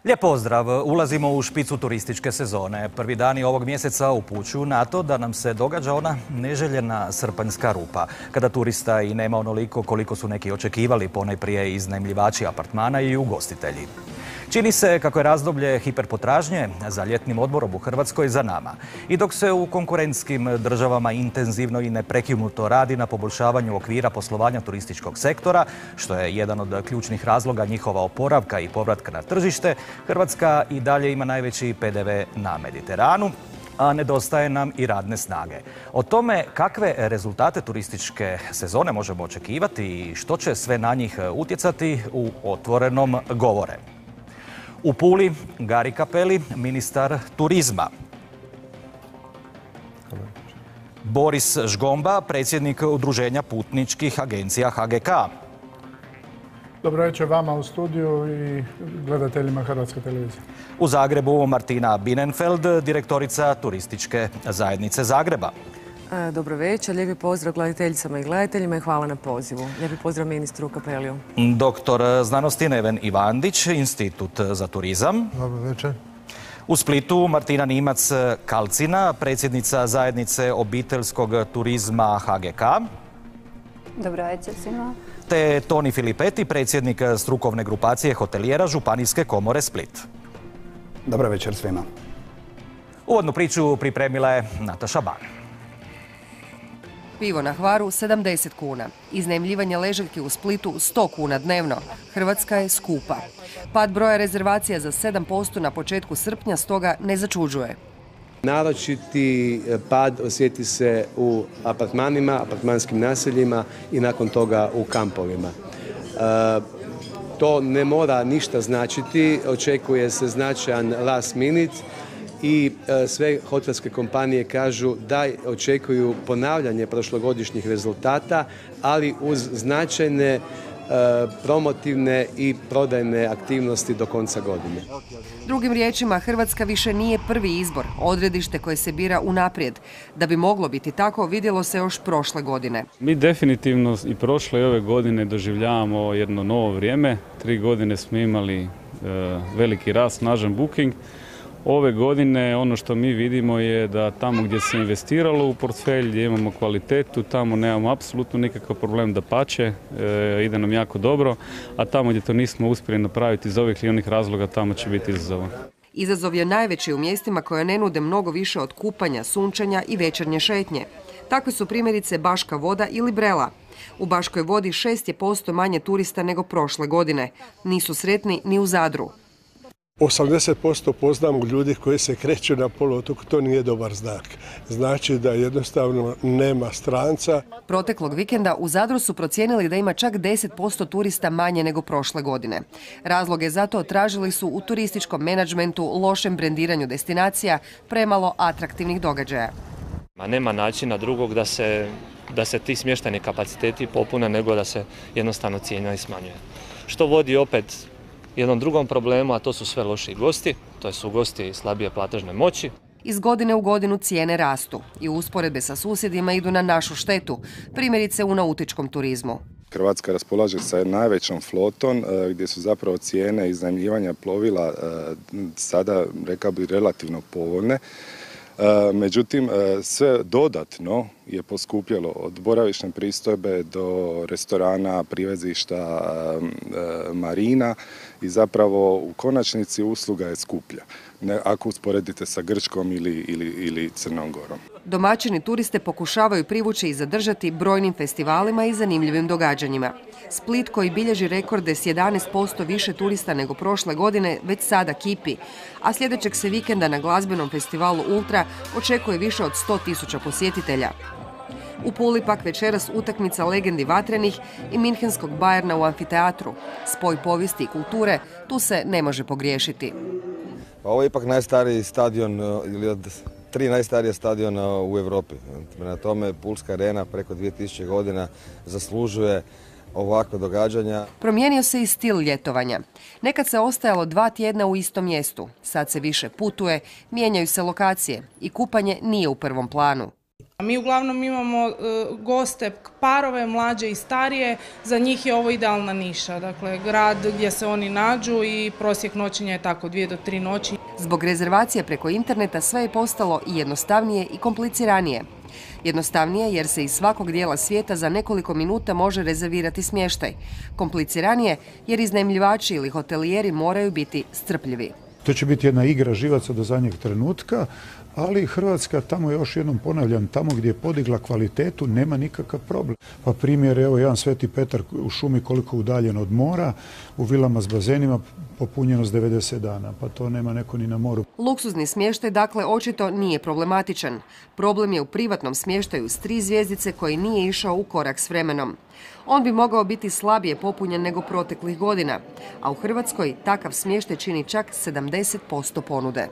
Lijep pozdrav! Ulazimo u špicu turističke sezone. Prvi dani ovog mjeseca upućuju na to da nam se događa ona neželjena srpanjska rupa, kada turista i nema onoliko koliko su neki očekivali, ponajprije iznajmljivači apartmana i ugostitelji. Čini se kako je razdoblje hiperpotražnje za ljetnim odmorom u Hrvatskoj za nama. I dok se u konkurentskim državama intenzivno i neprekinuto radi na poboljšavanju okvira poslovanja turističkog sektora, što je jedan od ključnih razloga njihova oporavka i povratka na tržište, Hrvatska i dalje ima najveći PDV na Mediteranu, a nedostaje nam i radne snage. O tome kakve rezultate turističke sezone možemo očekivati i što će sve na njih utjecati u Otvorenom govore. U Puli, Gari Cappelli, ministar turizma. Boris Žgomba, predsjednik Udruženja putničkih agencija HGK. Dobro večer vama u studiju i gledateljima Hrvatske televizije. U Zagrebu Martina Binenfeld, direktorica Turističke zajednice Zagreba. Dobro večer, lijepi pozdrav gledateljicama i gledateljima i hvala na pozivu. Lijepi pozdrav ministru Cappelliju. Doktor znanosti Neven Ivandić, Institut za turizam. Dobro večer. U Splitu Martina Nimac-Kalcina, predsjednica zajednice obiteljskog turizma HGK. Dobro večer svima. Te Toni Filipetti, predsjednik strukovne grupacije hotelijera Županijske komore Split. Dobro večer svima. Uvodnu priču pripremila je Nataša Ban. Pivo na Hvaru 70 kuna. Iznajmljivanje ležaljke u Splitu 100 kuna dnevno. Hrvatska je skupa. Pad broja rezervacija za 7% na početku srpnja stoga ne začuđuje. Naročiti pad osjeti se u apartmanima, apartmanskim naseljima i nakon toga u kampovima. To ne mora ništa značiti, očekuje se značajan last minute i sve hotelske kompanije kažu da očekuju ponavljanje prošlogodišnjih rezultata, ali uz značajne promotivne i prodajne aktivnosti do konca godine. Drugim riječima, Hrvatska više nije prvi izbor, odredište koje se bira unaprijed. Da bi moglo biti tako, vidjelo se još prošle godine. Mi definitivno i prošle i ove godine doživljavamo jedno novo vrijeme. 3 godine smo imali veliki rast, snažan booking. Ove godine ono što mi vidimo je da tamo gdje se investiralo u portfelj, gdje imamo kvalitetu, tamo nemamo apsolutno nikakav problem, dapače, ide nam jako dobro, a tamo gdje to nismo uspjeli napraviti iz ovih ili onih razloga, tamo će biti izazova. Izazov je najveći u mjestima koja ne nude mnogo više od kupanja, sunčanja i večernje šetnje. Takve su primjerice Baška Voda ili Brela. U Baškoj Vodi 6% manje turista nego prošle godine. Nisu sretni ni u Zadru. 80% poznamo ljudi koji se kreću na poluotoku, to nije dobar znak. Znači da jednostavno nema stranca. Proteklog vikenda u Zadru su procijenili da ima čak 10% turista manje nego prošle godine. Razloge za to tražili su u turističkom menadžmentu, lošem brendiranju destinacija, premalo atraktivnih događaja. Nema načina drugog da se ti smještajni kapaciteti popune nego da se jednostavno cijena smanjuje. Što vodi opet jednom drugom problemu, a to su sve lošiji gosti, to su gosti slabije platežne moći. Iz godine u godinu cijene rastu i usporedbe sa susjedima idu na našu štetu, primjerice u nautičkom turizmu. Hrvatska raspolaže sa najvećom flotom gdje su zapravo cijene iznajmljivanja plovila sada, rekao bih, relativno povoljne. Međutim, sve dodatno je poskupjelo od boravišne pristojbe do restorana, privezišta, marina i zapravo u konačnici usluga je skuplja ako usporedite sa Grčkom ili Crnom Gorom. Domaćini turiste pokušavaju privući i zadržati brojnim festivalima i zanimljivim događanjima. Split, koji bilježi rekorde s 11% više turista nego prošle godine, već sada kipi, a sljedećeg se vikenda na glazbenom festivalu Ultra očekuje više od 100.000 posjetitelja. U Puli pak večeras utakmica legendi Vatrenih i minhenskog Bayerna u amfiteatru. Spoj povijesti i kulture, tu se ne može pogriješiti. Ovo je ipak najstariji stadion, ili od 3 najstarija stadiona u Europi. Na tome Pulska arena preko 2000 godina zaslužuje ovakve događanja. Promijenio se i stil ljetovanja. Nekad se ostajalo 2 tjedna u istom mjestu. Sad se više putuje, mijenjaju se lokacije i kupanje nije u prvom planu. Mi uglavnom imamo goste, parove, mlađe i starije, za njih je ovo idealna niša. Dakle, grad gdje se oni nađu i prosjek noćenja je tako 2 do 3 noći. Zbog rezervacija preko interneta sve je postalo i jednostavnije i kompliciranije. Jednostavnije jer se iz svakog dijela svijeta za nekoliko minuta može rezervirati smještaj. Kompliciranije jer iznajmljivači ili hotelijeri moraju biti strpljivi. To će biti jedna igra živaca do zadnjeg trenutka, ali Hrvatska, tamo još jednom ponavljam, tamo gdje je podigla kvalitetu nema nikakav problem. Pa primjer, evo jedan Sveti Petar u šumi koliko udaljen od mora, u vilama s bazenima popunjenost 90 dana, pa to nema neko ni na moru. Luksuzni smještaj dakle očito nije problematičan. Problem je u privatnom smještaju s 3 zvjezdice koji nije išao u korak s vremenom. On bi mogao biti slabije popunjen nego proteklih godina, a u Hrvatskoj takav smještaj čini čak 70% ponude.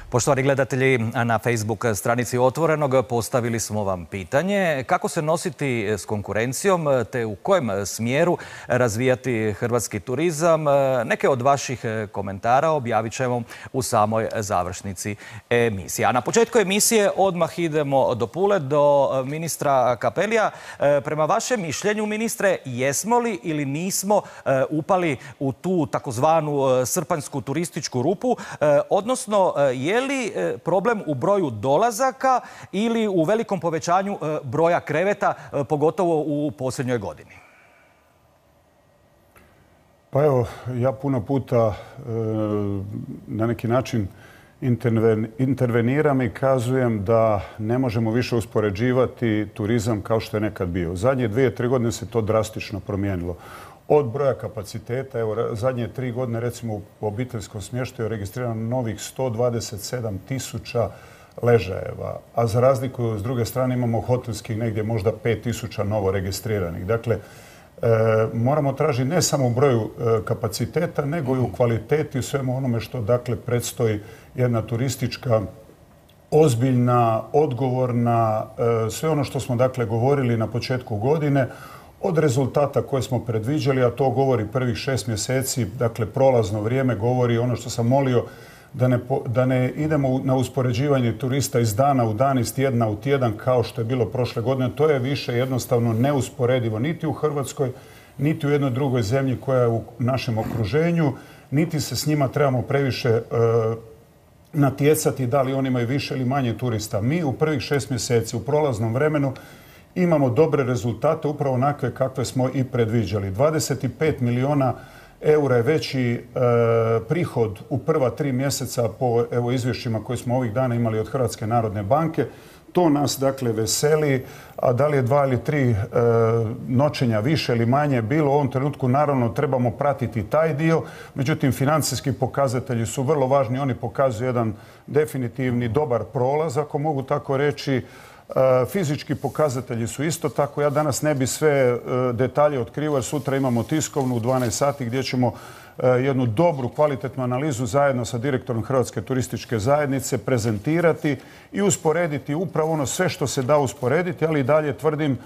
Poštovani gledatelji, na Facebook stranici Otvorenog postavili smo vam pitanje kako se nositi s konkurencijom te u kojem smjeru razvijati hrvatski turizam. Neke od vaših komentara objavit ćemo u samoj završnici emisije. A na početku emisije odmah idemo do Pule, do ministra Cappellija. Prema vašem mišljenju, ministre, jesmo li ili nismo upali u tu takozvanu srpanjsku turističku rupu, odnosno je li problem u broju dolazaka ili u velikom povećanju broja kreveta, pogotovo u posljednjoj godini? Pa evo, ja puno puta na neki način interveniram i kazujem da ne možemo više uspoređivati turizam kao što je nekad bio. Zadnje 2-3 godine se to drastično promijenilo. Od broja kapaciteta, evo, zadnje 3 godine, recimo u obiteljskom smještaju je registrirano novih 127.000 ležajeva, a za razliku s druge strane imamo hotelskih negdje možda 5.000 novo registriranih. Dakle, moramo tražiti ne samo u broju kapaciteta, nego i u kvaliteti, u svemu onome što dakle predstoji jedna turistička, ozbiljna, odgovorna, sve ono što smo dakle govorili na početku godine, od rezultata koje smo predviđali, a to govori prvih 6 mjeseci, dakle prolazno vrijeme, govori ono što sam molio da ne idemo na uspoređivanje turista iz dana u dan, iz tjedna u tjedan kao što je bilo prošle godine. To je više jednostavno neusporedivo niti u Hrvatskoj, niti u jednoj drugoj zemlji koja je u našem okruženju, niti se s njima trebamo previše natjecati da li oni imaju više ili manje turista. Mi u prvih 6 mjeseci u prolaznom vremenu imamo dobre rezultate, upravo onakve kakve smo i predviđali. 25 milijuna eura je veći prihod u prva 3 mjeseca po izvješćima koje smo ovih dana imali od Hrvatske narodne banke. To nas dakle veseli, a da li je 2 ili 3 noćenja više ili manje bilo u ovom trenutku, naravno trebamo pratiti taj dio. Međutim, financijski pokazatelji su vrlo važni, oni pokazuju jedan definitivni dobar prolaz, ako mogu tako reći. Fizički pokazatelji su isto tako. Ja danas ne bi sve detalje otkrivao jer sutra imamo tiskovnu u 12 sati gdje ćemo jednu dobru, kvalitetnu analizu zajedno sa direktorom Hrvatske turističke zajednice prezentirati i usporediti upravo ono sve što se da usporediti, ali i dalje tvrdim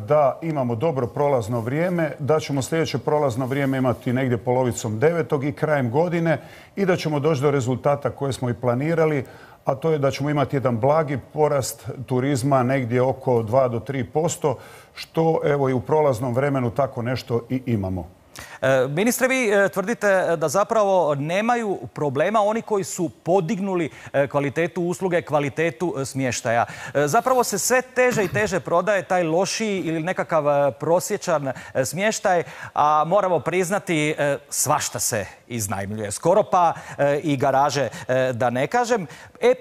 da imamo dobro prolazno vrijeme, da ćemo sljedeće prolazno vrijeme imati negdje polovicom 9. i krajem godine i da ćemo doći do rezultata koje smo i planirali, a to je da ćemo imati jedan blagi porast turizma negdje oko 2 do 3%, što evo i u prolaznom vremenu tako nešto i imamo. Ministre, vi tvrdite da zapravo nemaju problema oni koji su podignuli kvalitetu usluge, kvalitetu smještaja. Zapravo se sve teže i teže prodaje taj lošiji ili nekakav prosječan smještaj, a moramo priznati svašta se iznajmljuje. Skoro pa i garaže, da ne kažem.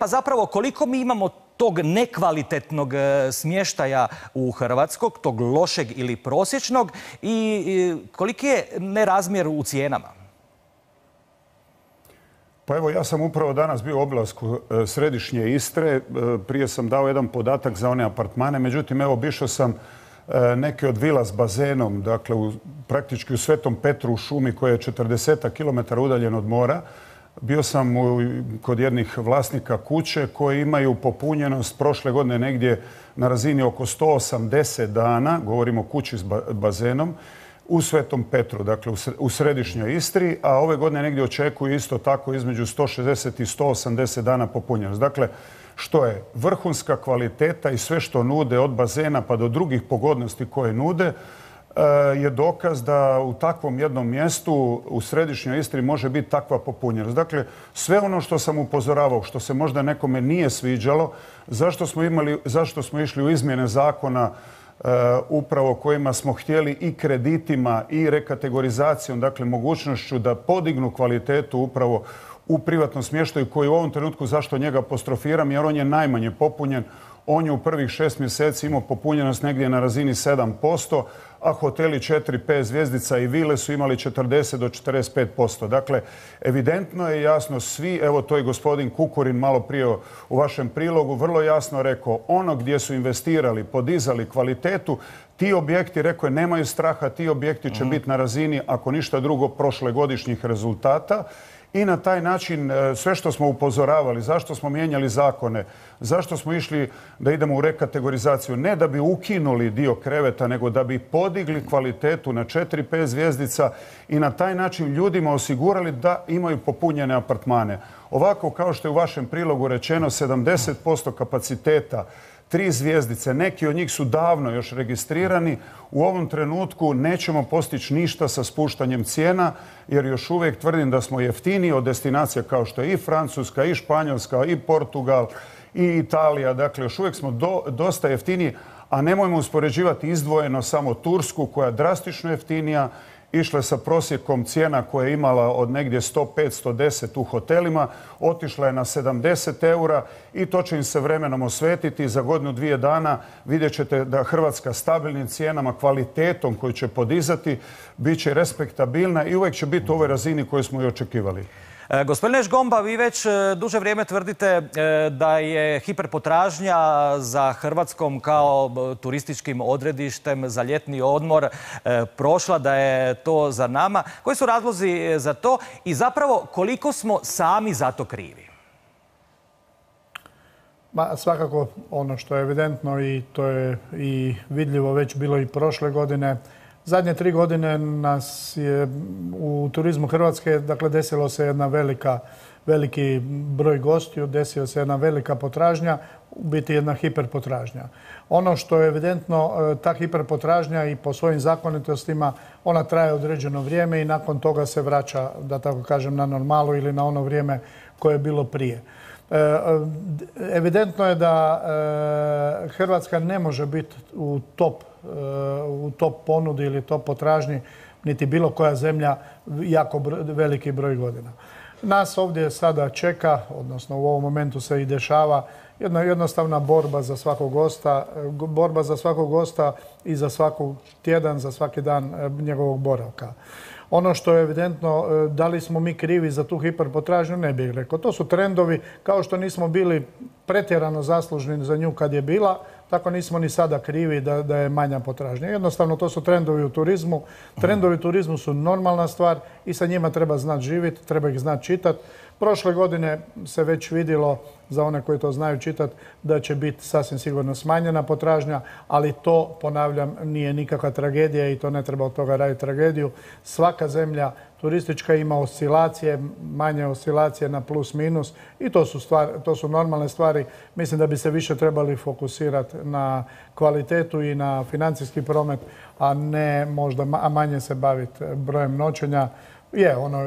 Pa zapravo koliko mi imamo tog nekvalitetnog smještaja u Hrvatskoj, tog lošeg ili prosječnog i koliki je nerazmjer u cijenama? Pa evo, ja sam upravo danas bio u obilasku središnje Istre. Prije sam dao jedan podatak za one apartmane. Međutim, evo, obišao sam neke od vila s bazenom, dakle, praktički u Svetom Petru u šumi koja je 40 km udaljen od mora. Bio sam kod jednih vlasnika kuće koji imaju popunjenost prošle godine negdje na razini oko 180 dana, govorimo o kući s bazenom. u Svetom Petru, dakle u središnjoj Istri, a ove godine negdje očekuju isto tako između 160 i 180 dana popunjenost. Dakle, što je vrhunska kvaliteta i sve što nude od bazena pa do drugih pogodnosti koje nude je dokaz da u takvom jednom mjestu u središnjoj Istri može biti takva popunjenost. Dakle, sve ono što sam upozoravao, što se možda nekome nije sviđalo, zašto smo išli u izmjene zakona upravo kojima smo htjeli i kreditima i rekategorizacijom, dakle mogućnošću da podignu kvalitetu upravo u privatnom smještaju koji u ovom trenutku, zašto njega apostrofiram, jer on je najmanje popunjen. On je u prvih 6 mjeseci imao popunjenost negdje na razini 7%, a hoteli 4-5 zvjezdica i vile su imali 40 do 45%. Dakle, evidentno je jasno svi, evo to je gospodin Kukurin malo prije u vašem prilogu vrlo jasno rekao, ono gdje su investirali, podizali kvalitetu, ti objekti, rekao je, nemaju straha, ti objekti će biti na razini, ako ništa drugo, prošlegodišnjih rezultata. I na taj način sve što smo upozoravali, zašto smo mijenjali zakone, zašto smo išli da idemo u rekategorizaciju, ne da bi ukinuli dio kreveta, nego da bi podigli kvalitetu na 4-5 zvjezdica i na taj način ljudima osigurali da imaju popunjene apartmane. Ovako, kao što je u vašem prilogu rečeno, 70% kapaciteta, 3 zvjezdice, neki od njih su davno još registrirani. U ovom trenutku nećemo postići ništa sa spuštanjem cijena, jer još uvijek tvrdim da smo jeftiniji od destinacija kao što je i Francuska, i Španjolska, i Portugal, i Italija. Dakle, još uvijek smo dosta jeftiniji, a nemojmo uspoređivati izdvojeno samo Tursku, koja je drastično jeftinija, išla je sa prosjekom cijena koje je imala od negdje 105-110 u hotelima, otišla je na 70 eura i to će im se vremenom osvetiti. Za godinu, 2 dana vidjet ćete da Hrvatska stabilnim cijenama, kvalitetom koju će podizati, bit će respektabilna i uvijek će biti u ovoj razini koju smo i očekivali. Gospodine Žgomba, vi već duže vrijeme tvrdite da je hiperpotražnja za Hrvatskom kao turističkim odredištem za ljetni odmor prošla, da je to za nama. Koji su razlozi za to i zapravo koliko smo sami za to krivi? Svakako ono što je evidentno i to je i vidljivo već bilo i prošle godine. Zadnje 3 godine nas je u turizmu Hrvatske, dakle, desilo se jedna veliki broj gostiju, desila se jedna velika potražnja, u biti jedna hiperpotražnja. Ono što je evidentno, ta hiperpotražnja i po svojim zakonitostima, ona traje određeno vrijeme i nakon toga se vraća, da tako kažem, na normalu ili na ono vrijeme koje je bilo prije. Evidentno je da Hrvatska ne može biti u top ponudi ili top potražnji, niti bilo koja zemlja jako veliki broj godina. Nas ovdje sada čeka, odnosno u ovom momentu se i dešava, jedna jednostavna borba za svakog gosta i za svaki tjedan, za svaki dan njegovog boravka. Ono što je evidentno, da li smo mi krivi za tu hiperpotražnju, ne bih rekao. To su trendovi, kao što nismo bili pretjerano zaslužni za nju kad je bila, tako nismo ni sada krivi da je manja potražnja. Jednostavno, to su trendovi u turizmu. Trendovi u turizmu su normalna stvar i sa njima treba znati živjeti, treba ih znati čitati. Prošle godine se već vidjelo, za one koji to znaju čitati, da će biti sasvim sigurno smanjena potražnja, ali to, ponavljam, nije nikakva tragedija i to ne treba od toga raditi tragediju. Svaka zemlja turistička ima oscilacije, manje oscilacije na plus minus i to su normalne stvari. Mislim da bi se više trebali fokusirati na kvalitetu i na financijski promet, a manje se baviti brojem noćenja.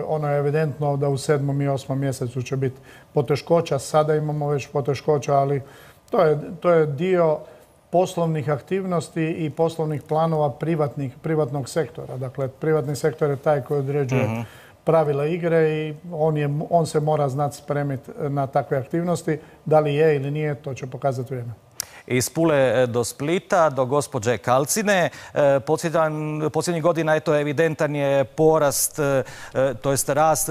Ono je evidentno da u 7. i 8. mjesecu će biti poteškoća. Sada imamo već poteškoća, ali to je dio poslovnih aktivnosti i poslovnih planova privatnog sektora. Dakle, privatni sektor je taj koji određuje pravila igre i on se mora znati spremiti na takve aktivnosti. Da li je ili nije, to će pokazati vrijeme. Iz Pule do Splita, do gospođe Kalcine. Posljednjih godina evidentan je porast, to jest rast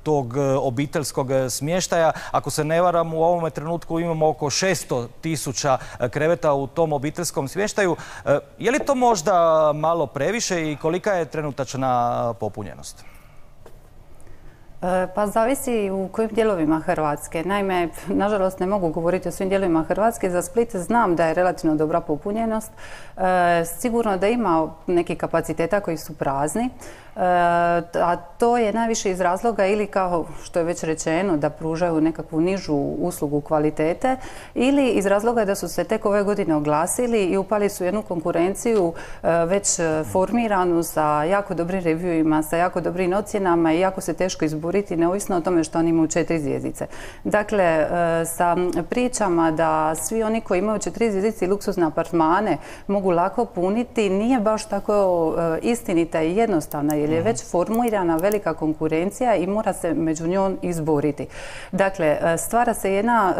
tog obiteljskog smještaja. Ako se ne varam, u ovome trenutku imamo oko 600.000 kreveta u tom obiteljskom smještaju. Je li to možda malo previše i kolika je trenutačna popunjenost? Pa zavisi u kojim dijelovima Hrvatske. Naime, nažalost ne mogu govoriti o svim dijelovima Hrvatske. Za Split znam da je relativno dobra popunjenost. Sigurno da ima neki kapaciteta koji su prazni. A to je najviše iz razloga ili kao što je već rečeno da pružaju nekakvu nižu uslugu kvalitete ili iz razloga da su se tek ove godine oglasili i upali su jednu konkurenciju već formiranu sa jako dobrim reviewima, sa jako dobrim ocjenama i jako se teško izboriti neovisno o tome što oni imaju 4 zvjezdice. Dakle, sa pričama da svi oni koji imaju 4 zvjezdice i luksuzne apartmane mogu lako puniti nije baš tako istinita i jednostavna jer je već formirana velika konkurencija i mora se među njom izboriti. Dakle, stvara se jedna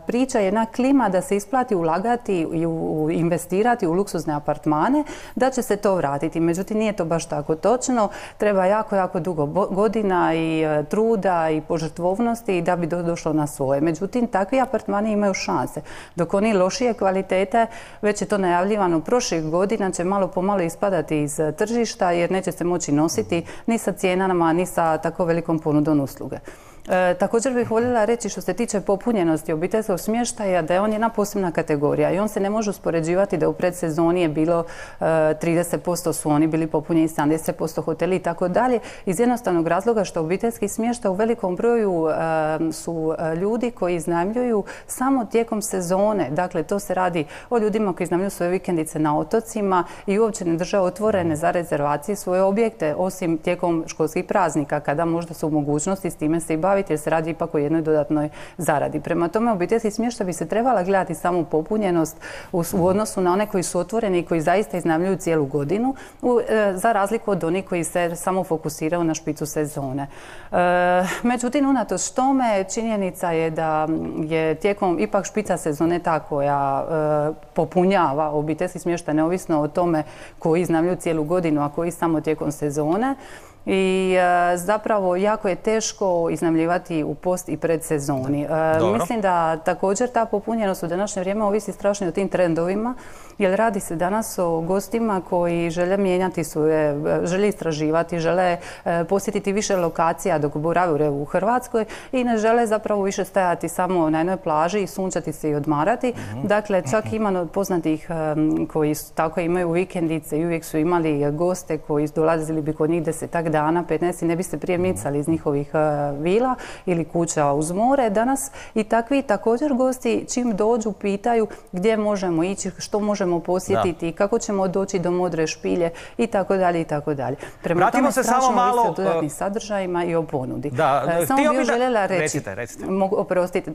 priča, jedna klima da se isplati ulagati i investirati u luksuzne apartmane, da će se to vratiti. Međutim, nije to baš tako točno. Treba jako, jako dugo godina i truda i požrtvovnosti da bi došlo na svoje. Međutim, takvi apartmani imaju šanse. Dok oni lošije kvalitete, već je to najavljivano prošlih godina, će malo pomalo ispadati iz tržišta jer neće se moći nositi ni sa cijenama, ni sa tako velikom ponudom usluge. Također bih voljela reći što se tiče popunjenosti obiteljskog smještaja da je on jedna posebna kategorija i on se ne može uspoređivati da u predsezoni je bilo 30% su oni bili popunjeni, 70% hoteli i tako dalje iz jednostavnog razloga što obiteljski smještaj u velikom broju su ljudi koji iznajmljuju samo tijekom sezone. Dakle, to se radi o ljudima koji iznajmljuju svoje vikendice na otocima i uopće ne drže otvorene za rezervacije svoje objekte osim tijekom školskih praznika kada možda su u mogućnosti s time se i baviti jer se radi ipak o jednoj dodatnoj zaradi. Prema tome, obiteljski smještaj bi se trebala gledati samo popunjenost u odnosu na one koji su otvoreni i koji zaista iznajmljuju cijelu godinu, za razliku od onih koji se samo fokusiraju na špicu sezone. Međutim, unatoč tome, činjenica je da je tijekom ipak špica sezone ta koja popunjava obiteljski smještaj neovisno o tome koji iznajmljuju cijelu godinu, a koji samo tijekom sezone. I zapravo jako je teško iznajmljivati u post i predsezoni. Mislim da također ta popunjenost u današnje vrijeme ovisi strašno o tim trendovima, jer radi se danas o gostima koji žele mijenjati svoje, žele istraživati, žele posjetiti više lokacija dok borave u Hrvatskoj i ne žele zapravo više stajati samo na jednoj plaži i sunčati se i odmarati. Dakle, čak ima poznatih koji tako imaju vikendice i uvijek su imali goste koji dolazili bi kod njih 10 dana, 15 i ne bi se prije micali iz njihovih vila ili kuća uz more. Danas i takvi također gosti čim dođu pitaju gdje možemo ići, što možemo posjetiti, kako ćemo doći do Modre špilje i tako dalje i tako dalje. Prema tome strašno ovisi o dodatnim sadržajima i o ponudi. Samo bih željela reći, oprostite,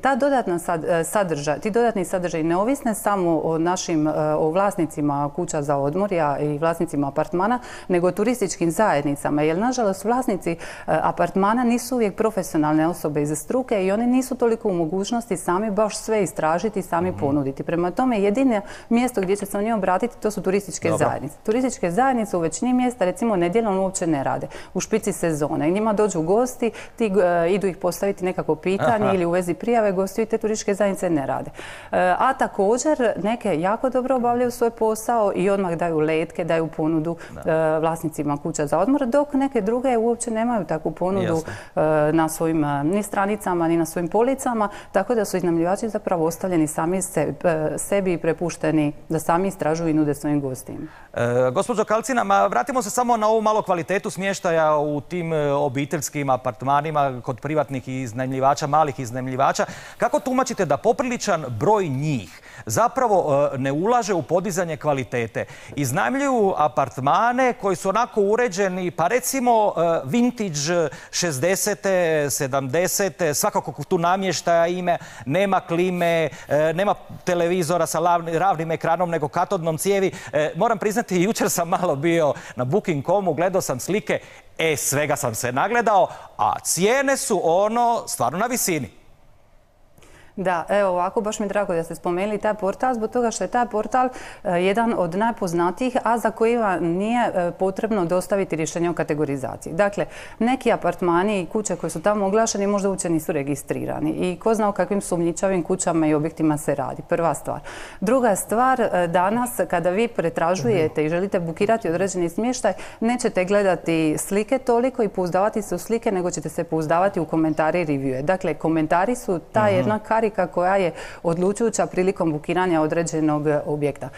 ti dodatni sadržaji ne ovisne samo o našim vlasnicima kuća za odmor i vlasnicima apartmana, nego o turističkim zajednicama. Jer nažalost vlasnici apartmana nisu uvijek profesionalne osobe iz struke i oni nisu toliko u mogućnosti sami baš sve istražiti i sami ponuditi. Prema tome jedino mjesto gdje će se oni obratiti to su turističke zajednice. Turističke zajednice u većini mjesta recimo nedjeljom uopće ne rade. U špici sezone. I njima dođu gosti, idu ih postaviti nekako pitanje ili u vezi prijave gosti i te turističke zajednice ne rade. A također neke jako dobro obavljaju svoj posao i odmah daju letke, daju ponudu vlasnicima kuća za odmor, dok neke druge uopće nemaju takvu ponudu na svojim ni stranicama, ni na svojim policama, tako da su iznajmljivači zapravo ostavljeni sami sebi i prepušteni da sami istražuju i nude svojim gostima. Gospođo Kalcina, vratimo se samo na ovu malo kvalitetu smještaja u tim obiteljskim apartmanima kod privatnih iznajmljivača, malih iznajmljivača. Kako tumačite da popriličan broj njih zapravo ne ulaže u podizanje kvalitete? Iznajmljuju apartmane koji su onako uređeni, pa recimo vintage 60. 70. svakako tu namještaja ime, nema klime, nema televizora sa ravnim ekranom nego katodnom cijevi. Moram priznati, jučer sam malo bio na Booking.comu, gledao sam slike, svega sam se nagledao, a cijene su stvarno na visini. Da, evo ovako, baš mi je drago da ste spomenuli taj portal, zbog toga što je taj portal jedan od najpoznatijih, a za kojima nije potrebno dostaviti rješenje o kategorizaciji. Dakle, neki apartmani i kuće koje su tamo oglašeni možda uopće nisu registrirani i ko zna o kakvim sumnjičavim kućama i objektima se radi. Prva stvar. Druga stvar, danas kada vi pretražujete i želite bukirati određeni smještaj, nećete gledati slike toliko i pouzdavati se u slike, nego ćete se pouzdavati u komentari i reviewe. Dakle, komentari su ta jedna karika koja je odlučujuća prilikom bukiranja određenog objekta.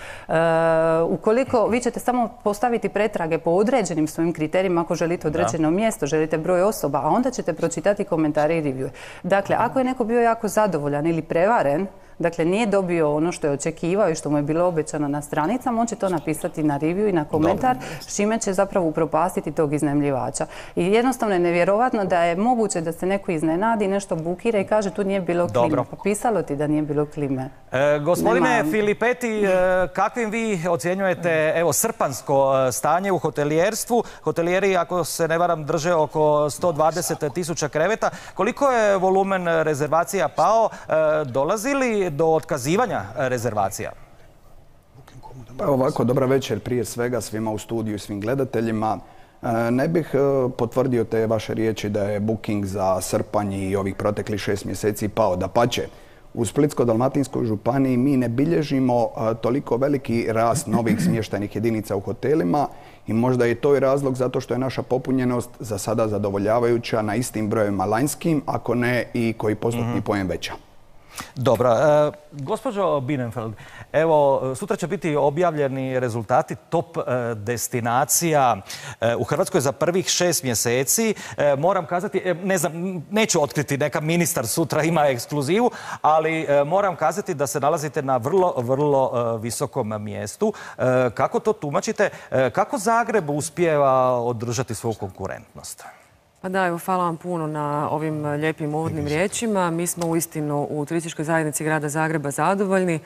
Ukoliko vi ćete samo postaviti pretrage po određenim svojim kriterijima, ako želite određeno mjesto, želite broj osoba, a onda ćete pročitati komentare i reviewe. Dakle, ako je neko bio jako zadovoljan ili prevaren, dakle, nije dobio ono što je očekivao i što mu je bilo obećano na stranicama, on će to napisati na review i na komentar, s čime će zapravo upropastiti tog iznajmljivača. I jednostavno je nevjerovatno da je moguće da se neko iznenadi, nešto bukira i kaže tu nije bilo klime. Pa pisalo ti da nije bilo klime. Gospodine Filipeti, kakvim vi ocjenjujete srpanjsko stanje u hotelijerstvu? Hotelijeri, ako se ne varam, drže oko 120.000 kreveta. Koliko je volumen rezervacija pao? Dolazi li do otkazivanja rezervacija? Pa ovako, dobra večer prije svega svima u studiju i svim gledateljima. Ne bih potvrdio te vaše riječi da je booking za srpanj i ovih proteklih 6 mjeseci pao. Dapače, u Splitsko-dalmatinskoj županiji mi ne bilježimo toliko veliki rast novih smještajnih jedinica u hotelima i možda je to i razlog zato što je naša popunjenost za sada zadovoljavajuća na istim brojevima lanjskim, ako ne i koji postotni poen veća. Dobro. Gospođo Bienenfeld, evo, sutra će biti objavljeni rezultati top destinacija u Hrvatskoj za prvih 6 mjeseci. Moram kazati, ne znam, neću otkriti, neka ministar sutra ima ekskluzivu, ali moram kazati da se nalazite na vrlo visokom mjestu. Kako to tumačite? Kako Zagreb uspijeva održati svoju konkurentnost? Pa da, evo, hvala vam puno na ovim lijepim uvodnim riječima. Mi smo uistinu u turističkoj zajednici grada Zagreba zadovoljni.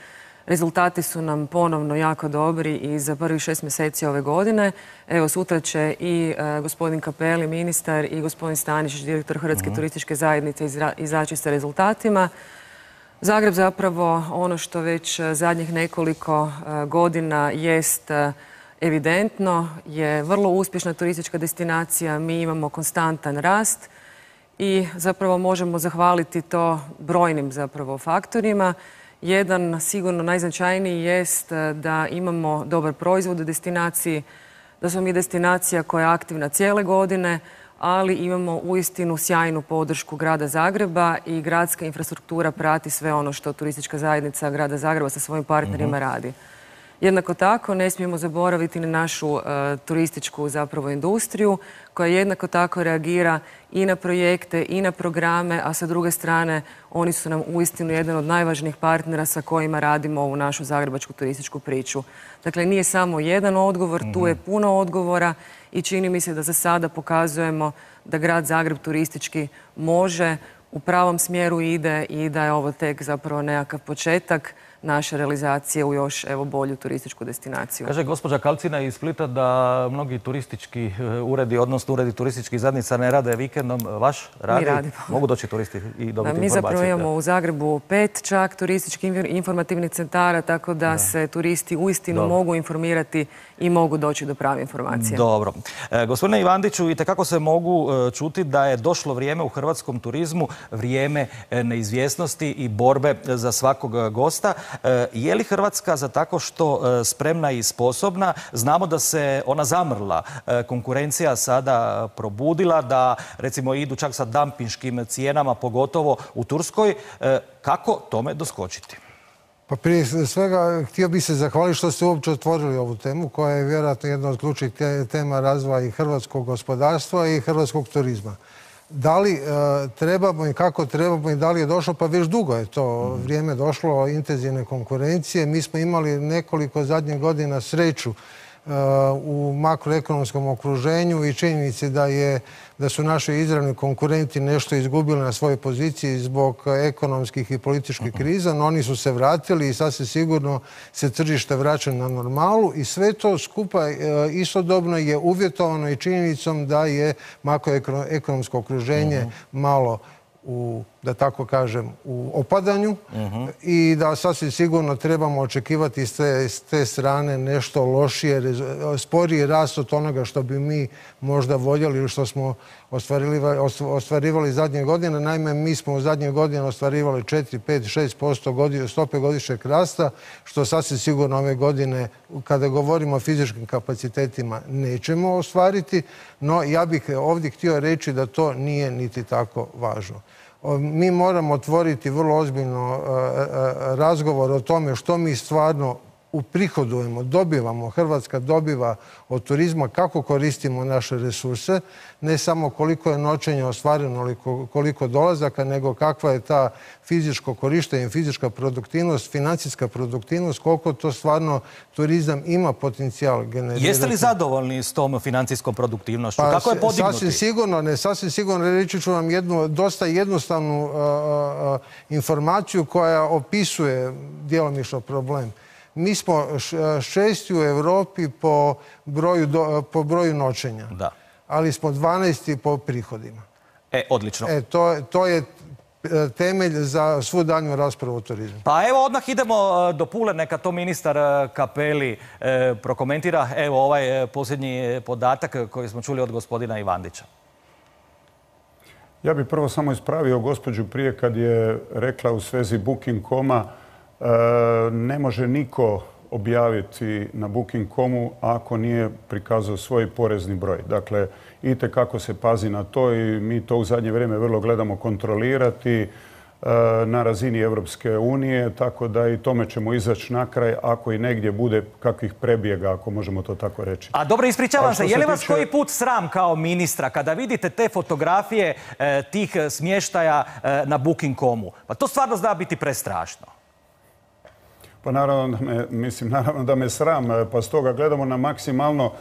Rezultati su nam ponovno jako dobri i za prvih 6 mjeseci ove godine. Evo, sutra će i gospodin Cappelli, ministar, i gospodin Stanišić, direktor Hrvatske turističke zajednice, izaći sa rezultatima. Zagreb zapravo, ono što već zadnjih nekoliko godina jest evidentno, je vrlo uspješna turistička destinacija. Mi imamo konstantan rast i zapravo možemo zahvaliti to brojnim zapravo faktorima. Jedan sigurno najznačajniji jest da imamo dobar proizvod u destinaciji, da smo mi destinacija koja je aktivna cijele godine, ali imamo uistinu sjajnu podršku grada Zagreba i gradska infrastruktura prati sve ono što turistička zajednica grada Zagreba sa svojim partnerima radi. Jednako tako ne smijemo zaboraviti na našu turističku zapravo industriju koja jednako tako reagira i na projekte i na programe, a sa druge strane oni su nam uistinu jedan od najvažnijih partnera sa kojima radimo ovu našu zagrebačku turističku priču. Dakle, nije samo jedan odgovor, tu je puno odgovora i čini mi se da za sada pokazujemo da grad Zagreb turistički može, u pravom smjeru ide i da je ovo tek zapravo nekakav početak naše realizacije u još bolju turističku destinaciju. Kaže gospođa Kalcina iz Splita da mnogi turistički uredi, odnosno uredi turističkih zajednica ne rade vikendom. Vaš radi? Mi radimo. Mogu doći turisti i dobiti informacije? Mi zapravo imamo u Zagrebu 5 čak turističkih informativnih centara, tako da se turisti uistinu mogu informirati i mogu doći do prave informacije. Dobro. Gospodine Ivandiću, itekako se mogu čuti da je došlo vrijeme u hrvatskom turizmu, vrijeme neizvjesnosti i borbe za svakog gosta. Je li Hrvatska za tako što spremna i sposobna? Znamo da se ona zamrla. Konkurencija sada probudila, da recimo idu čak sa dampinškim cijenama, pogotovo u Turskoj. Kako tome doskočiti? Pa prije svega htio bih se zahvaliti što ste uopće otvorili ovu temu koja je vjerojatno jedna od ključnih tema razvoja i hrvatskog gospodarstva i hrvatskog turizma. Da li trebamo i kako trebamo i da li je došlo, pa već dugo je to vrijeme došlo intenzivne konkurencije. Mi smo imali nekoliko zadnjih godina sreću u makroekonomskom okruženju i činjenici da su naši izravni konkurenti nešto izgubili na svojoj poziciji zbog ekonomskih i političkih kriza, no oni su se vratili i sasvim sigurno se tržište vraća na normalu i sve to skupa istodobno je uvjetovano i činjenicom da je makroekonomsko okruženje malo u da tako kažem, u opadanju i da sasvim sigurno trebamo očekivati s te strane nešto lošije, sporiji rast od onoga što bi mi možda voljeli ili što smo ostvarivali zadnje godine. Naime, mi smo u zadnje godine ostvarivali 4, 5, 6% stope godišnjeg rasta, što sasvim sigurno ove godine, kada govorimo o fizičkim kapacitetima, nećemo ostvariti, no ja bih ovdje htio reći da to nije niti tako važno. Mi moramo otvoriti vrlo ozbiljno razgovor o tome što mi stvarno uprihodujemo, dobivamo, Hrvatska dobiva od turizma, kako koristimo naše resurse, ne samo koliko je noćenja ostvareno ili koliko dolazaka, nego kakva je ta fizičko korištenje, fizička produktivnost, financijska produktivnost, koliko to stvarno turizam ima potencijal generirati. Jeste li zadovoljni s tom financijskom produktivnošću? Kako je podignuti? Sasvim sigurno. Reći ću vam jednu dosta jednostavnu informaciju koja opisuje djelomično problem. Mi smo 6. u Europi po broju noćenja, ali smo 12. po prihodima. Odlično. To je temelj za svu daljnju raspravu o turizmu. Pa evo odmah idemo do Pule, neka to ministar Cappelli prokomentira. Evo ovaj posljednji podatak koji smo čuli od gospodina Ivandića. Ja bih prvo samo ispravio gospođu prije kad je rekla u svezi Booking.com-a ne može niko objaviti na Booking.com-u ako nije prikazao svoj porezni broj. Dakle, itekako se pazi na to i mi to u zadnje vrijeme vrlo gledamo kontrolirati na razini Europske unije, tako da i tome ćemo izaći na kraj ako i negdje bude kakvih prebjega, ako možemo to tako reći. A dobro, ispričavam se, je li vas koji put sram kao ministra kada vidite te fotografije tih smještaja na Booking.com-u? Pa to stvarno zna biti prestrašno. Pa naravno da me sram, pa stoga gledamo na maksimalno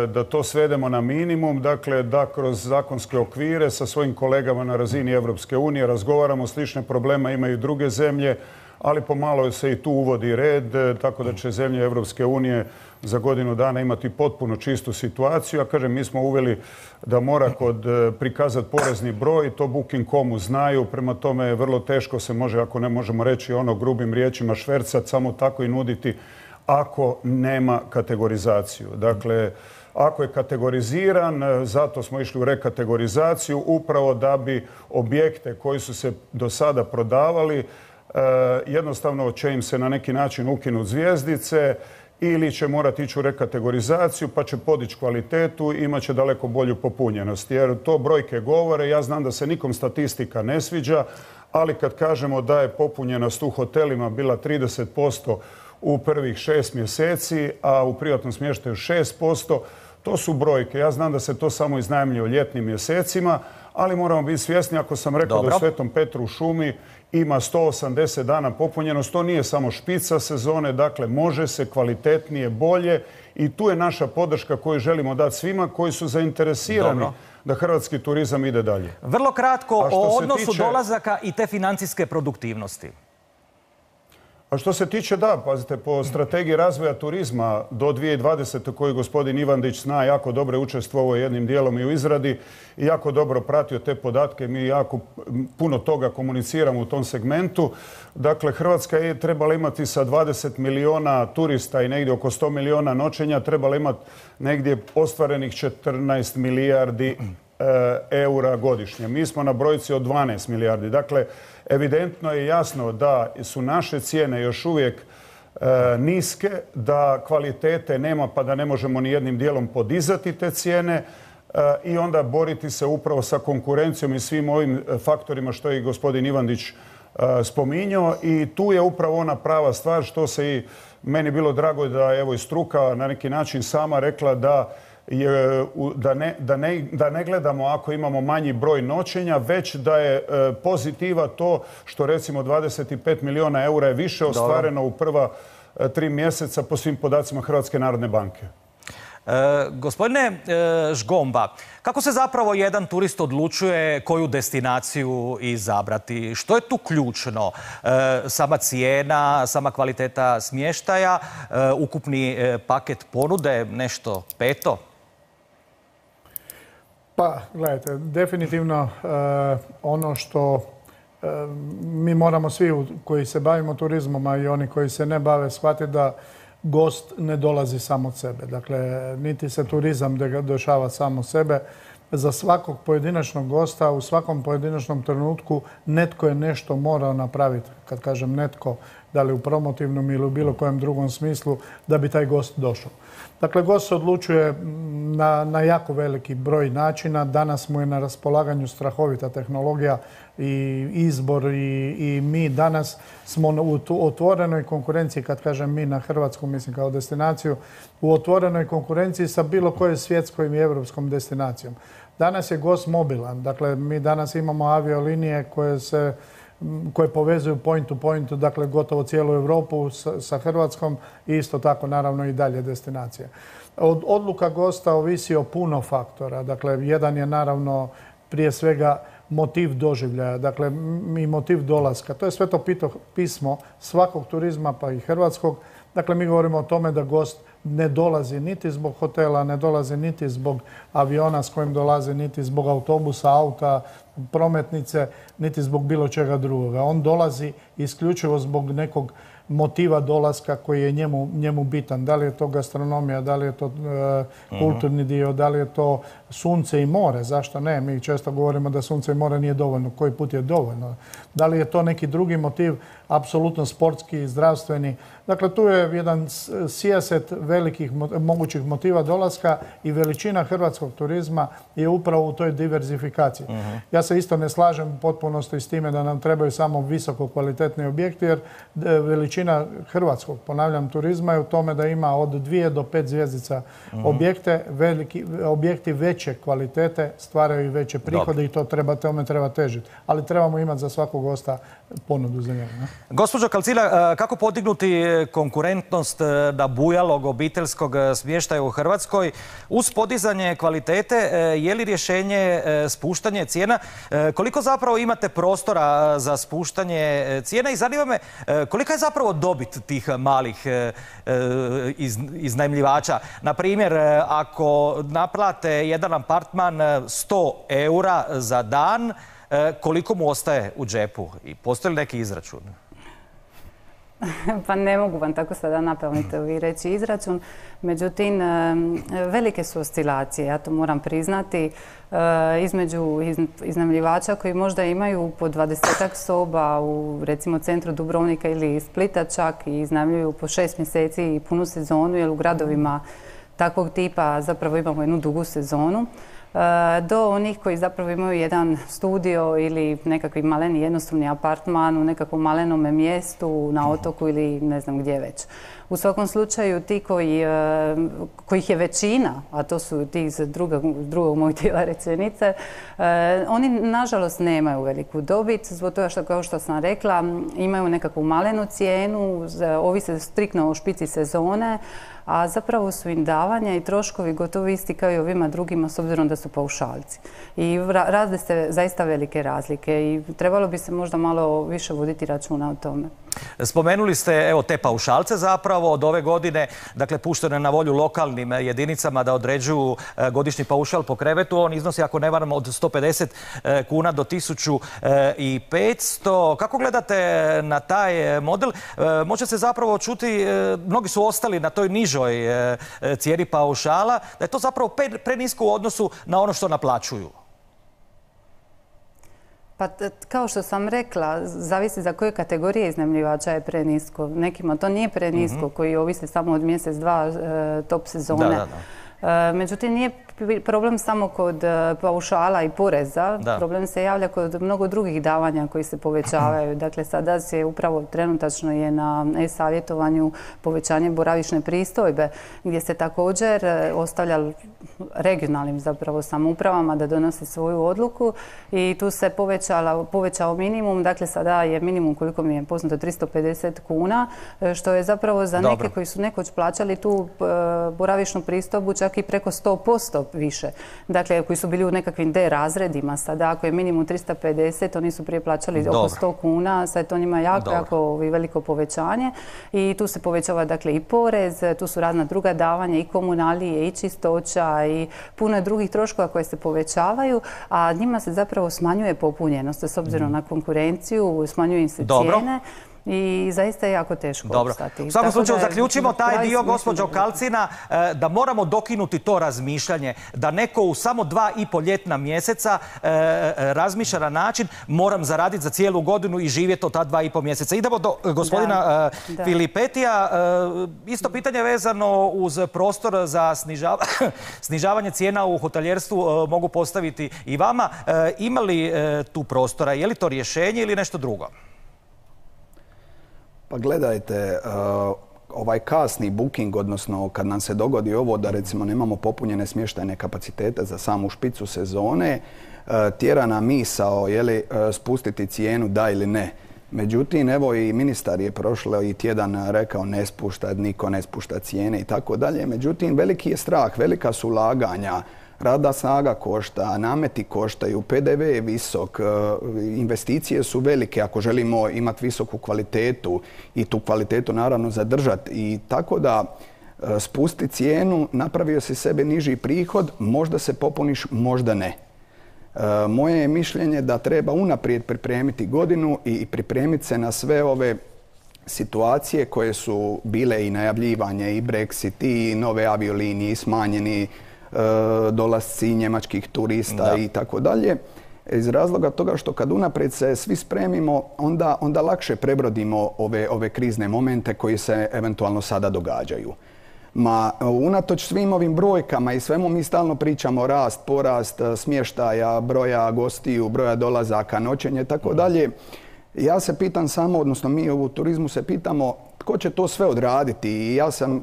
da to svedemo na minimum, dakle da kroz zakonske okvire sa svojim kolegama na razini Europske unije razgovaramo, slične problema imaju i druge zemlje, ali pomalo se i tu uvodi red, tako da će zemlje Europske unije za godinu dana imati potpuno čistu situaciju. A kažem, mi smo uveli da mora prikazati porezni broj, to Booking.com-u znaju, prema tome vrlo teško se može, ako ne možemo reći ono grubim riječima, švercati, samo tako i nuditi ako nema kategorizaciju. Dakle, ako je kategoriziran, zato smo išli u rekategorizaciju, upravo da bi objekte koji su se do sada prodavali, jednostavno će im se na neki način ukinuti zvjezdice ili će morati ići u rekategorizaciju pa će podići kvalitetu i imat će daleko bolju popunjenost. Jer to brojke govore, ja znam da se nikom statistika ne sviđa, ali kad kažemo da je popunjenost u hotelima bila 30% u prvih 6 mjeseci, a u privatnom smještaju 6%, to su brojke. Ja znam da se to samo iznajmljuje u ljetnim mjesecima, ali moramo biti svjesni, ako sam rekao da u Svetom Petru u šumi ima 180 dana popunjenost, to nije samo špica sezone, dakle može se kvalitetnije, bolje i tu je naša podrška koju želimo dati svima koji su zainteresirani da hrvatski turizam ide dalje. Vrlo kratko o odnosu dolazaka i te financijske produktivnosti. A što se tiče, da, pazite, po strategiji razvoja turizma do 2020. koju gospodin Ivandić zna, jako dobro učestvovao jednim dijelom i u izradi i jako dobro pratio te podatke. Mi jako puno toga komuniciramo u tom segmentu. Dakle, Hrvatska je trebala imati sa 20 milijuna turista i negdje oko 100 milijuna noćenja, trebala imati negdje ostvarenih 14 milijardi eura godišnje. Mi smo na brojci od 12 milijardi. Dakle, evidentno je jasno da su naše cijene još uvijek niske, da kvalitete nema pa da ne možemo ni jednim dijelom podizati te cijene i onda boriti se upravo sa konkurencijom i svim ovim faktorima što je i gospodin Ivandić spominjao. I tu je upravo ona prava stvar što se i meni bilo drago da evo i struka na neki način sama rekla da ne gledamo ako imamo manji broj noćenja, već da je pozitiva to što recimo 25 milijuna eura je više ostvareno u prva 3 mjeseca po svim podacima Hrvatske narodne banke. Gospodine Žgomba, kako se zapravo jedan turist odlučuje koju destinaciju izabrati? Što je tu ključno? Sama cijena, sama kvaliteta smještaja, ukupni paket ponude, nešto peto? Pa, gledajte, definitivno ono što mi moramo svi koji se bavimo turizmom, a i oni koji se ne bave, shvatiti da gost ne dolazi samo od sebe. Dakle, niti se turizam dešava samo sebe. Za svakog pojedinačnog gosta u svakom pojedinačnom trenutku netko je nešto morao napraviti. Kad kažem netko, da li u promotivnom ili u bilo kojem drugom smislu, da bi taj gost došao. Dakle, gost se odlučuje na jako veliki broj načina. Danas mu je na raspolaganju strahovita tehnologija i izbor i mi danas smo u otvorenoj konkurenciji, kad kažem mi na Hrvatsku, mislim kao destinaciju, u otvorenoj konkurenciji sa bilo kojoj svjetskom i evropskom destinacijom. Danas je gost mobilan. Dakle, mi danas imamo aviolinije koje povezuju point to point, dakle gotovo cijelu Europu sa Hrvatskom i isto tako naravno i dalje destinacije. Odluka gosta ovisi o puno faktora. Dakle, jedan je naravno prije svega motiv doživljaja, dakle i motiv dolaska. To je sve to pismo svakog turizma pa i hrvatskog. Dakle, mi govorimo o tome da gost ne dolazi niti zbog hotela, ne dolazi niti zbog aviona s kojim dolazi, niti zbog autobusa, auta, prometnice, niti zbog bilo čega drugoga. On dolazi isključivo zbog nekog motiva dolaska koji je njemu bitan. Da li je to gastronomija, da li je to kulturni dio, da li je to sunce i more, zašto ne? Mi često govorimo da sunce i more nije dovoljno, koji put je dovoljno. Da li je to neki drugi motiv, apsolutno sportski, zdravstveni. Dakle, tu je jedan sijaset velikih mogućih motiva dolaska i veličina hrvatskog turizma je upravo u toj diverzifikaciji. Ja se isto ne slažem u potpunosti s time da nam trebaju samo visoko kvalitetni objekti, jer veličina hrvatskog, ponavljam, turizma je u tome da ima od 2 do 5 zvjezdica objekte. Objekti veće kvalitete stvaraju i veće prihode i tome treba težiti. Ali trebamo imati za svakog gosta ponudu za njega. Gospođo Kalcila, kako podignuti konkurentnost nabujalog obiteljskog smještaja u Hrvatskoj uz podizanje kvalitete? Je li rješenje spuštanje cijena? Koliko zapravo imate prostora za spuštanje cijena i zanima me kolika je zapravo dobit tih malih iznajmljivača? Na primjer, ako naplate jedan apartman 100 eura za dan, koliko mu ostaje u džepu? I postoji li neki izračun? Pa ne mogu vam tako sada napamet reći izračun. Međutim, velike su oscilacije, ja to moram priznati, između iznajmljivača koji možda imaju po 20-ak soba u recimo centru Dubrovnika ili Splita čak i iznajmljuju po 6 mjeseci i punu sezonu, jer u gradovima takvog tipa zapravo imamo jednu dugu sezonu, do onih koji zapravo imaju jedan studio ili nekakvi maleni jednostavni apartman u nekakvom malenom mjestu na otoku ili ne znam gdje već. U svakom slučaju ti kojih je većina, a to su ti iz drugog mojeg dijela rečenice, oni nažalost nemaju veliku dobit, zbog toga što, kao što sam rekla, imaju nekakvu malenu cijenu, ovise striktno o špici sezone, a zapravo su im davanja i troškovi gotovo isti kao i ovima drugima s obzirom da su paušalci. I razne se zaista velike razlike i trebalo bi se možda malo više voditi računa o tome. Spomenuli ste te paušalce zapravo od ove godine, dakle pušteno je na volju lokalnim jedinicama da određuju godišnji paušal po krevetu. On iznosi, ako ne varam, od 150 kuna do 1500. Kako gledate na taj model? Može se zapravo čuti, mnogi su ostali na toj nižoj cijeni paušala, da je to zapravo prenisko u odnosu na ono što naplaćuju. Pa kao što sam rekla, zavisi za koje kategorije iznajmljivača je prenisko. Nekima to nije prenisko, koji ovise samo od mjesec, dva top sezone. Međutim, nije problem samo kod paušala i poreza. Problem se javlja kod mnogo drugih davanja koji se povećavaju. Dakle, sada se upravo trenutačno je na e-savjetovanju povećanje boravišne pristojbe, gdje se također ostavlja regionalnim zapravo samoupravama da donose svoju odluku i tu se povećao minimum. Dakle, sada je minimum, koliko mi je poznato, 350 kuna, što je zapravo za neke koji su nekoć plaćali tu boravišnu pristojbu čak čak i preko 100% više. Dakle, koji su bili u nekakvim D razredima, sada ako je minimum 350, oni su prije plaćali oko 100 kuna, sad je to njima jako veliko povećanje i tu se povećava dakle i porez, tu su razna druga davanja i komunalije i čistoća i puno je drugih troškova koje se povećavaju, a njima se zapravo smanjuje popunjenost s obzirom na konkurenciju, smanjuju im se cijene. I zaista je jako teško opstati. U svakom slučaju zaključimo taj dio, gospođo Kalcina, da moramo dokinuti to razmišljanje, da neko u samo 2,5 ljetna mjeseca razmišlja na način moram zaraditi za cijelu godinu i živjeti od ta 2,5 mjeseca. Idemo do gospodina Filipetija. Isto pitanje vezano uz prostor za snižavanje cijena u hotelijerstvu mogu postaviti i vama. Ima li tu prostora? Je li to rješenje ili nešto drugo? Pa gledajte, ovaj kasni booking, odnosno kad nam se dogodi ovo da recimo nemamo popunjene smještajne kapacitete za samu špicu sezone, tjera nam misao spustiti cijenu da ili ne. Međutim, evo i ministar je prošli tjedan rekao niko ne spušta cijene i tako dalje. Međutim, veliki je strah, velika su ulaganja. Radna snaga košta, nameti koštaju, PDV je visok, investicije su velike ako želimo imati visoku kvalitetu i tu kvalitetu naravno zadržati. I tako da spusti cijenu, napravio si sebi niži prihod, možda se popuniš, možda ne. Moje je mišljenje da treba unaprijed pripremiti godinu i pripremiti se na sve ove situacije koje su bile i najavljivanje, i Brexit, i nove aviolinije, i smanjeni dolasci njemačkih turista i tako dalje. Iz razloga toga što kad unaprijed se svi spremimo, onda lakše prebrodimo ove krizne momente koji se eventualno sada događaju. Unatoč svim ovim brojkama i svemu mi stalno pričamo rast, porast smještaja, broja gostiju, broja dolazaka, noćenje i tako dalje. Ja se pitam samo, odnosno mi u turizmu se pitamo tko će to sve odraditi. I ja sam,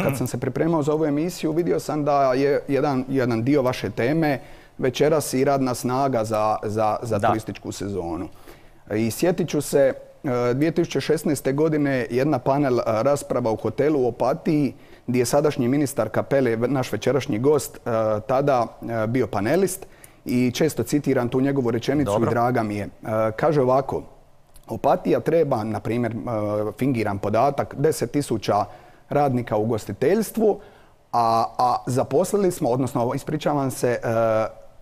kad sam se pripremao za ovu emisiju, vidio sam da je jedan dio vaše teme večeras i radna snaga za turističku sezonu. I sjetit ću se 2016. godine jedna panel rasprava u hotelu u Opatiji gdje je sadašnji ministar Cappelli, naš večerašnji gost, tada bio panelist i često citiram tu njegovu rečenicu i draga mi je. Kaže ovako: Opatija treba, na primjer, fingiran podatak, 10.000 radnika u ugostiteljstvu, a zaposlili smo, odnosno ispričavam se,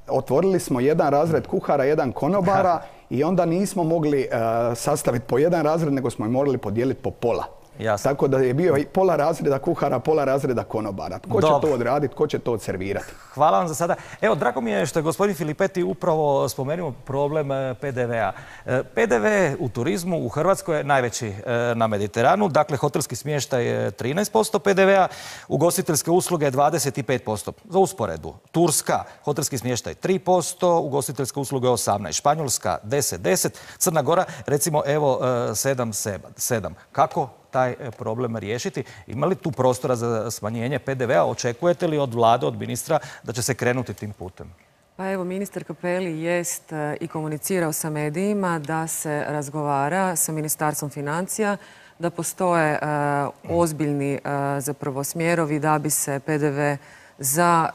otvorili smo jedan razred kuhara, jedan konobara i onda nismo mogli sastaviti po jedan razred, nego smo ih morali podijeliti po pola. Jasno. Tako da je bio i pola razreda kuhara, pola razreda konobara. Tko će to odraditi, tko će to odservirati? Hvala vam za sada. Evo, drago mi je što je gospodin Filipeti upravo spomenuo problem PDV-a. PDV u turizmu u Hrvatskoj je najveći na Mediteranu. Dakle, hotelski smještaj je 13% PDV-a, ugostiteljske usluge 25%. Za usporedbu, Turska, hotelski smještaj 3%, ugostiteljske usluge 18%, Španjolska 10%, Crna Gora recimo evo 7%. Kako taj problem riješiti? Ima li tu prostora za smanjenje PDV-a? Očekujete li od vlade, od ministra da će se krenuti tim putem? Pa evo, ministar Cappelli jest i komunicirao sa medijima da se razgovara sa Ministarstvom financija, da postoje ozbiljni zapravo smjerovi da bi se PDV za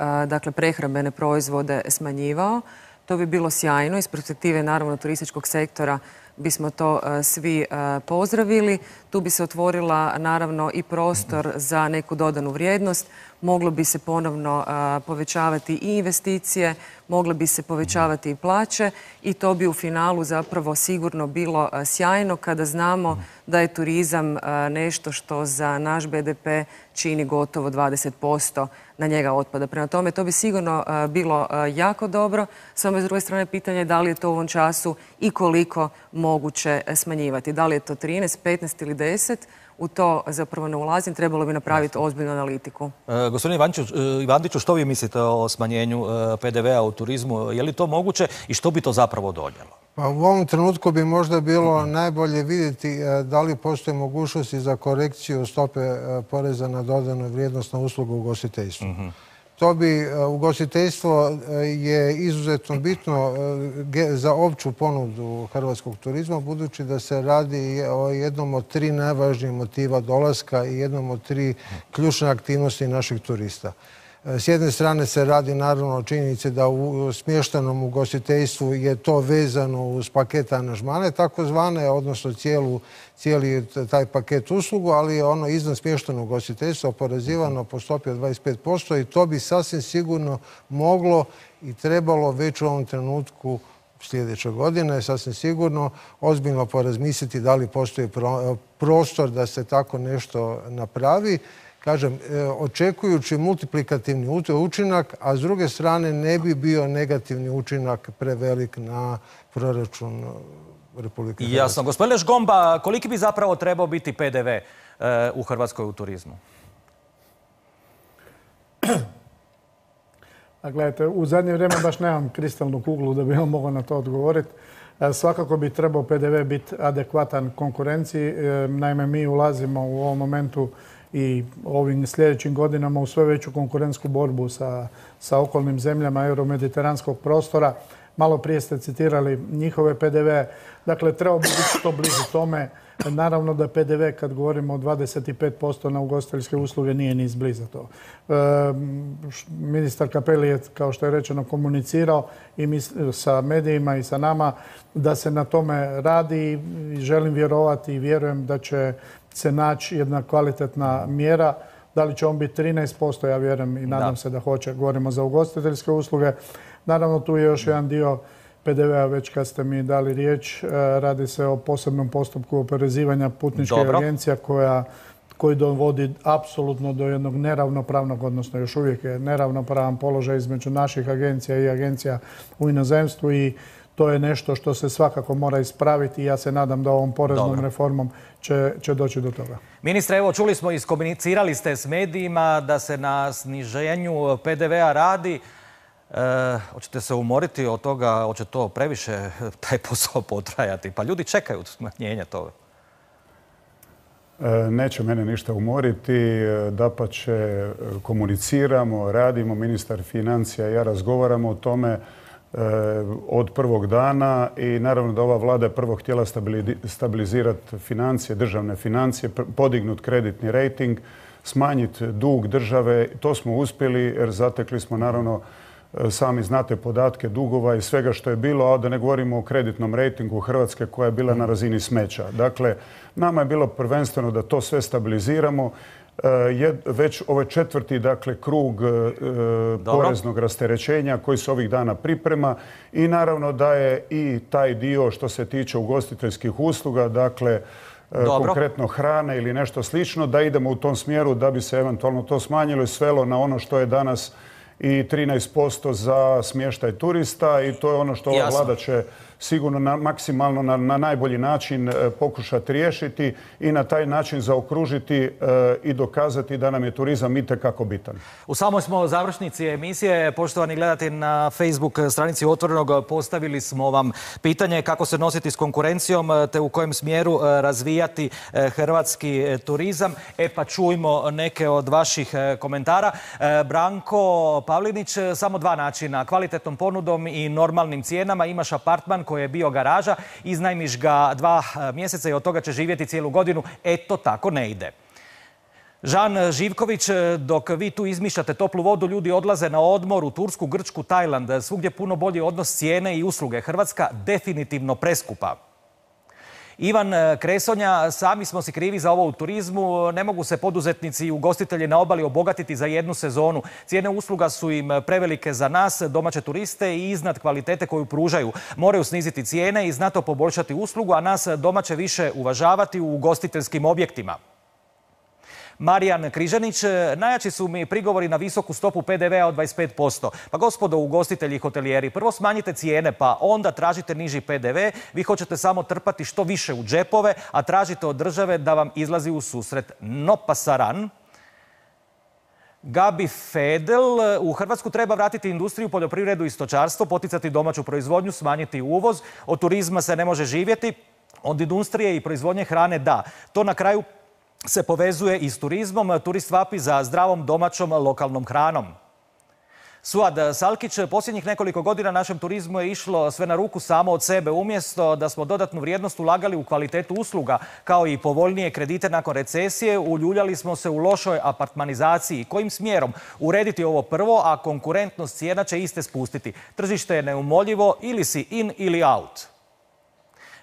prehrambene proizvode smanjivao. To bi bilo sjajno. Iz perspektive naravno turističkog sektora bismo to svi pozdravili. Tu bi se otvorila naravno i prostor za neku dodanu vrijednost. Moglo bi se ponovno povećavati i investicije, mogle bi se povećavati i plaće i to bi u finalu zapravo sigurno bilo sjajno kada znamo da je turizam nešto što za naš BDP čini gotovo 20% na njega otpada. Prema tome, to bi sigurno bilo jako dobro. Samo s druge strane pitanje je da li je to u ovom času i koliko moguće smanjivati. Da li je to 13, 15 ili 10? U to zapravo ne ulazim, trebalo bi napraviti ozbiljnu analitiku. Gospodine Ivandiću, što vi mislite o smanjenju PDV-a u turizmu? Je li to moguće i što bi to zapravo donijelo? Pa u ovom trenutku bi možda bilo najbolje vidjeti da li postoje mogućnosti za korekciju stope poreza na dodanu vrijednost na uslugu u ugostiteljstvu. To bi, ugostiteljstvo je izuzetno bitno za opću ponudu hrvatskog turizma, budući da se radi o jednom od 3 najvažnijih motiva dolaska i jednom od 3 ključne aktivnosti naših turista. S jedne strane se radi naravno o činjenici da u smještenom ugostiteljstvu je to vezano uz paket aranžmane takozvane, odnosno cijeli taj paket uslugu, ali je ono izvan smještenog ugostiteljstva oporezivano po stopi od 25% i to bi sasvim sigurno moglo i trebalo već u ovom trenutku sljedeće godine, sasvim sigurno, ozbiljno porazmisliti da li postoji prostor da se tako nešto napravi. Kažem, očekujući multiplikativni učinak, a s druge strane ne bi bio negativni učinak prevelik na proračun Republike Hrvatske. Jasno. Gospodine Žgomba, koliki bi zapravo trebao biti PDV u Hrvatskoj u turizmu? Gledajte, u zadnje vrijeme baš nemam kristalnu kuglu da bi vam mogao na to odgovoriti. Svakako bi trebao PDV biti adekvatan konkurenciji. Naime, mi ulazimo u ovom momentu i ovim sljedećim godinama u sve veću konkurentsku borbu sa okolnim zemljama euromediteranskog prostora. Malo prije ste citirali njihove PDV. Dakle, trebao bi biti što bliže tome. Naravno da PDV, kad govorimo o 25% na ugostiteljske usluge, nije ni izbliza to. Ministar Cappelli je, kao što je rečeno, komunicirao i sa medijima i sa nama da se na tome radi i želim vjerovati i vjerujem da će se naći jedna kvalitetna mjera. Da li će on biti 13%, ja vjerujem i nadam se da hoće. Govorimo za ugostiteljske usluge. Naravno, tu je još jedan dio PDV-a, već kad ste mi dali riječ. Radi se o posebnom postupku oporezivanja putničkih agencija koji dovodi apsolutno do jednog neravnopravnog, odnosno još uvijek je neravnopravan položaj između naših agencija i agencija u inozemstvu i to je nešto što se svakako mora ispraviti i ja se nadam da ovom poreznom reformom će doći do toga. Ministre, evo čuli smo, iskomunicirali ste s medijima da se na sniženju PDV-a radi. Hoćete se umoriti od toga, hoće to previše taj posao potrajati? Pa ljudi čekaju smanjenje toga. Neće mene ništa umoriti, dapače komuniciramo, radimo, ministar financija i ja razgovaramo o tome od prvog dana i naravno da ova vlada je prvo htjela stabilizirati financije, državne financije, podignuti kreditni rejting, smanjiti dug države. To smo uspjeli jer zatekli smo naravno, sami znate podatke dugova i svega što je bilo, a da ne govorimo o kreditnom rejtingu Hrvatske koja je bila na razini smeća. Dakle, nama je bilo prvenstveno da to sve stabiliziramo. Već ovaj četvrti krug poreznog rasterećenja koji se ovih dana priprema i naravno da je i taj dio što se tiče ugostiteljskih usluga, dakle konkretno hrane ili nešto slično, da idemo u tom smjeru da bi se eventualno to smanjilo i svelo na ono što je danas i 13% za smještaj turista i to je ono što ova vlada će sigurno maksimalno na najbolji način pokušati riješiti i na taj način zaokružiti i dokazati da nam je turizam itekako bitan. U samoj smo završnici emisije, poštovani gledatelji, na Facebook stranici Otvorenog postavili smo vam pitanje kako se nositi s konkurencijom te u kojem smjeru razvijati hrvatski turizam. Pa čujmo neke od vaših komentara. Branko Pavlinić, samo dva načina, kvalitetnom ponudom i normalnim cijenama. Imaš apartman koji je bio garaža, iznajmiš ga 2 mjeseca i od toga će živjeti cijelu godinu. To tako ne ide. Žan Živković, dok vi tu izmišljate toplu vodu, ljudi odlaze na odmor u Tursku, Grčku, Tajland. Svugdje puno bolji odnos cijene i usluge. Hrvatska definitivno preskupa. Ivan Kresonja, sami smo si krivi za ovo u turizmu. Ne mogu se poduzetnici i ugostitelji na obali obogatiti za jednu sezonu. Cijene usluga su im prevelike za nas, domaće turiste, i iznad kvalitete koju pružaju. Moraju sniziti cijene i znatno poboljšati uslugu, a nas domaće više uvažavati u ugostiteljskim objektima. Marijan Križanić, najjači su mi prigovori na visoku stopu PDV-a od 25%. Pa gospodo ugostitelji i hotelijeri, prvo smanjite cijene pa onda tražite niži PDV. Vi hoćete samo trpati što više u džepove, a tražite od države da vam izlazi u susret. No pasaran. Gabi Fedel, u Hrvatsku treba vratiti industriju, poljoprivredu i stočarstvo, poticati domaću proizvodnju, smanjiti uvoz. Od turizma se ne može živjeti, od industrije i proizvodnje hrane da. To na kraju se povezuje i s turizmom. Turist vapi za zdravom, domaćom, lokalnom hranom. Suad Salkić, posljednjih nekoliko godina našem turizmu je išlo sve na ruku samo od sebe. Umjesto da smo dodatnu vrijednost ulagali u kvalitetu usluga, kao i povoljnije kredite nakon recesije, uljuljali smo se u lošoj apartmanizaciji. Kojim smjerom urediti ovo prvo, a konkurentnost cijena će iste spustiti? Tržište je neumoljivo, ili si in ili out.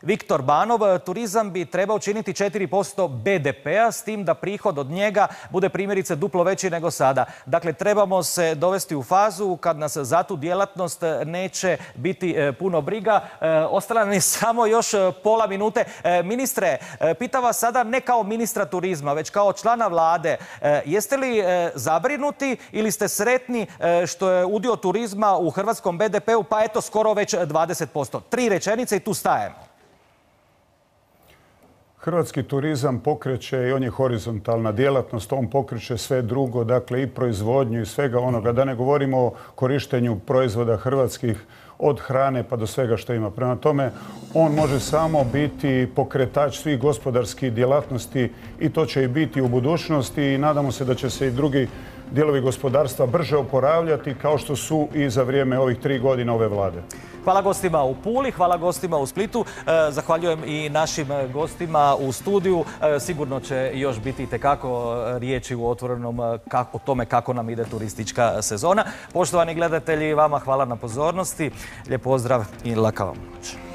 Viktor Banov, turizam bi trebao činiti 4% BDP-a, s tim da prihod od njega bude primjerice duplo veći nego sada. Dakle, trebamo se dovesti u fazu kad nas za tu djelatnost neće biti puno briga. Ostala nam je samo još pola minute. Ministre, pitam vas sada ne kao ministra turizma, već kao člana vlade. Jeste li zabrinuti ili ste sretni što je udio turizma u hrvatskom BDP-u pa eto skoro već 20%? 3 rečenice i tu stajemo. Hrvatski turizam pokreće i on je horizontalna djelatnost, on pokreće sve drugo, dakle i proizvodnju i svega onoga. Da ne govorimo o korištenju proizvoda hrvatskih od hrane pa do svega što ima. Prema tome, on može samo biti pokretač svih gospodarskih djelatnosti i to će i biti u budućnosti i nadamo se da će se i drugi dijelovi gospodarstva brže oporavljati kao što su i za vrijeme ovih 3 godine ove vlade. Hvala gostima u Puli, hvala gostima u Splitu. Zahvaljujem i našim gostima u studiju. Sigurno će još biti itekako riječi u Otvorenom o tome kako nam ide turistička sezona. Poštovani gledatelji, vama hvala na pozornosti. Lijep pozdrav i laka vam noć.